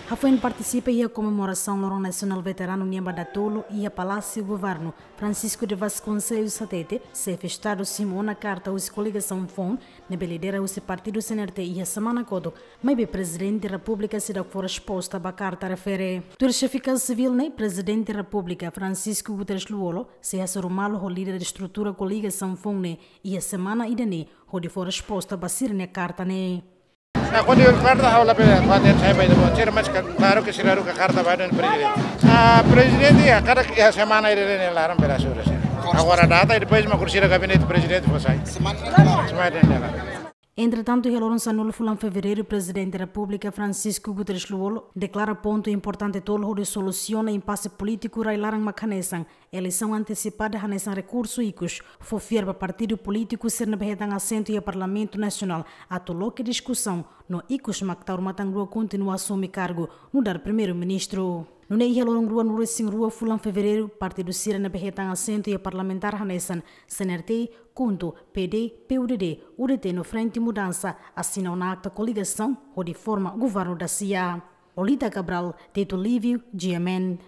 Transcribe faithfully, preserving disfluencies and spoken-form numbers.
Hafoin partisipa iha komemorasaun Loron Nasionál Veteranu nian ba datolu iha Palásiu Governu, Francisco de Vasconcelos hatete, xefe Estadu simu ona karta husi koligasaun foun ne'ebé lidera husi partidu C N R T iha semana kotuk, maibé Prezidente Repúblika seidauk fó resposta ba karta refere. Tuir xefe Kaza Sivíl ne'e, Prezidente Repúblika Francisco Guterres Lú-Olo sei hasoru malu ho líder estrutura koligasaun foun ne'e iha semana ida-ne'e hodi fó resposta ba sira-nia karta ne'e. Na, kuandu karta ha'u labele kuandu sai ba ida boot, sira mais klaru ke sira haruka karta ba dehan Prezidente. Ah, Prezidente, ya, kada, ya, semana ida-ne'e laran bele hasoru sira. Agora data i depois mak sira gabinete Prezidente fó sai. Semana ida laran. Semana ida laran. Entretantu, iha loron sanulu fulan Fevereiru, Prezidente Repúblika Francisco Guterres Lú-Olo deklara pontu importante tolu hodi solusiona impase polítiku rai-laran mak hanesan eleisaun antesipada, hanesan rekursu ikus, fó fiar ba partidu polítiku sira ne'ebé hetan asentu iha Parlamentu Nasionál atu loke diskusaun no ikus mak tau ruma tan rua kontinua asume kargu nu'udar Primeiru-Ministru. Nune'e iha loron ruanulu-resin-rua fulan Fevereiru, partidu sira ne'ebé hetan asentu iha parlamentar hanesan C N R T, KHUNTO, P D, P U D D, U D T no Frente Mudansa asina ona akta koligasaun hodi forma governu dasia. Lolita Cabral, Tito Lívio, G M N.